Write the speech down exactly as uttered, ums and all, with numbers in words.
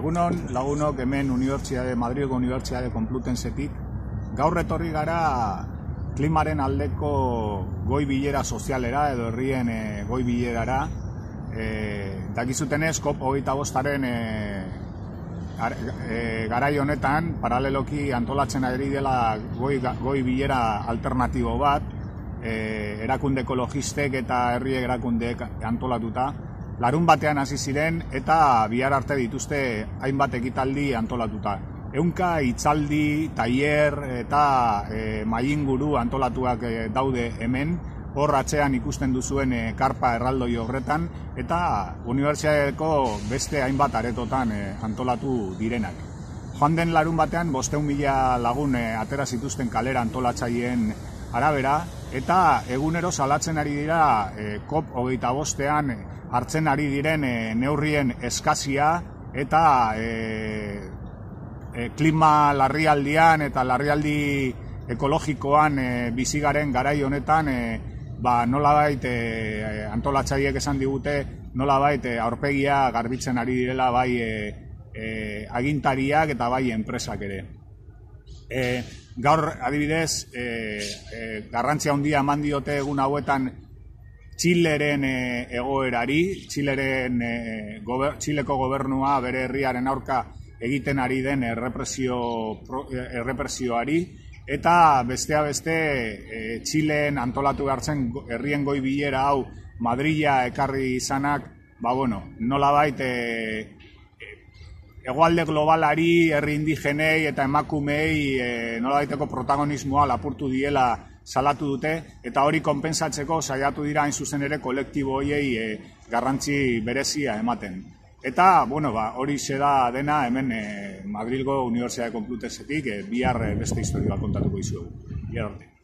Egunon, lagunok hemen Unibertsitate, Madrilgo Unibertsitate Complutensetik, gaur etorri gara klimaren aldeko goi bilera sozialera edo herrien e, goi bilerara. E, dakizutenez, COP hogeita bostaren e, e, garai honetan, paraleloki antolatzen ari dela goi, goi bilera alternatibo bat, e, erakunde ekologistek eta herri erakundeek antolatuta. Larun batean hasi ziren eta bihar arte dituzte hainbat ekitaldi antolatuta. Ehunka hitzaldi, tailer eta e, mahai-inguru antolatuak e, daude hemen, hor atzean ikusten duzuen e, karpa erraldoi horretan, eta unibertsitateko beste hainbat aretotan e, antolatu direnak. Joan den larun batean bostehun mila lagun e, atera zituzten kalera antolatzaileen arabera, eta egunero salatzen ari dira e, COP hogeita bostean hartzen ari diren e, neurrien eskazia eta e, e, klima larrialdian eta larrialdi ekologikoan e, bizigaren garai honetan e, ba, nolabait e, antolatzaileek esan digute nolabait e, aurpegia garbitzen ari direla bai e, e, agintariak eta bai enpresak ere. E, gaur adibidez e, e, garrantzia handia eman diote egun hauetan Txileren e, egoerari, Txileren, e, gober, Txileko gobernua bere herriaren aurka egiten ari den errepresio, pro, errepresioari, eta bestea beste e, Txilen antolatu hartzen herrien goi bilera hau Madrila ekarri izanak, ba bueno, nolabait e, hegoalde globalari, herri indigenei eta emakumei e, nolabaiteko protagonismoa lapurtu diela salatu dute, eta hori konpensatzeko saiatu dira hain zuzen ere kolektibo horiei e, garrantzi berezia ematen. Eta, bueno, ba, hori da dena hemen e, Madrilgo Unibertsitate Complutensetik, e, bihar beste historia kontatuko dizuegu. Bihar arte.